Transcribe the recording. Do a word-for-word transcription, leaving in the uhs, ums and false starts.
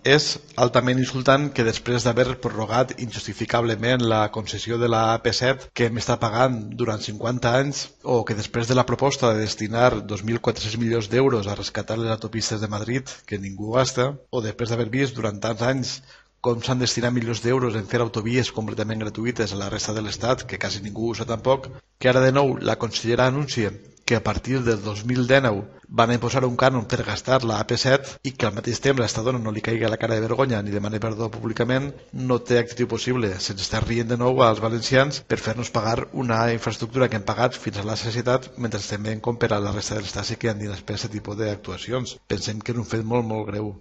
És altament insultant que després d'haver prorrogat injustificablement la concessió de la A P set que hem estat pagant durant cinquanta anys, o que després de la proposta de destinar dos mil quatre-cents milions d'euros a rescatar les autopistes de Madrid, que ningú gasta, o després d'haver vist durant tants anys com s'han destinat milions d'euros en fer autovies completament gratuïtes a la resta de l'Estat, que quasi ningú usa tampoc, que ara de nou la consellera anuncia que a partir del dos mil dinou van a imposar un cànon per gastar la A P set i que al mateix temps a esta dona no li caigui la cara de vergonya ni demani perdó públicament, no té actitud possible. Se'ns està rient de nou als valencians per fer-nos pagar una infraestructura que hem pagat fins a la sacietat, mentre estem veient com per a la resta de l'Estat sí que han dit després aquest tipus d'actuacions. Pensem que és un fet molt, molt greu.